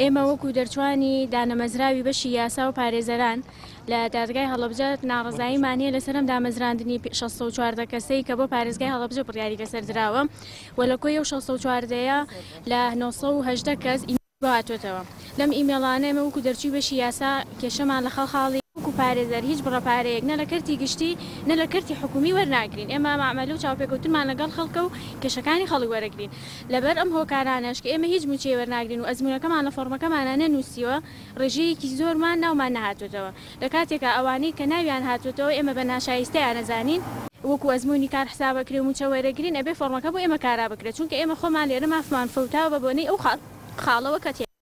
ئێمە وەکو دەرچوانی دانەمەزراوی بەشی یاسا و پارێزەران لە دادگای هەڵەبجە ناڕەزاییمان هەیە لەسەر ئەم دامەزراندنی 614 کەسەی کە بۆ پارێزگای هەڵەبجە بڕیاری لەسەر دراوە و لە کۆی ئەو 614 ەیە لە 918 کەس بۆ هاتۆتەوە. لەم ئیمێڵانە ئێمە وەکو دەرچووی بەشی یاسا کێشەمان لە خاڵ خاڵی. وەکو پارێزەر هیچ بڕە پارەیەک نە لە کەرتی گشتی نە لە کەرتی حکومی وەرناگرین، ئێمە مەعمەلە و چاوپێکەوتنمان لەگەڵ خەڵکە و کێشەکانی خەڵک وەرەگرین، لەبەر ئەم هۆکارانەش کە ئێمە هیچ مووچەی وەرناگرین و ئەزموونەکەمان لە فۆڕمەکەمانا نەنووسیوە ڕێژەیەکی زۆرمان ناومان نەهاتۆتەوە، لە کاتێکا ئەوانەی کە ناویان هاتۆتەوە ئێمە بە ناشایستەیان ئەزانین، وەکو ئەزموونی کار حساب ئەکرێ و مووچە وەرەگرین ئەبێ فۆڕمەکە بۆ ئێمە کارا بکرێت، چونکە ئێمە خۆمان لێرە مافمان فەوتاوە بە بۆنەی ئەو خاڵەوە کە.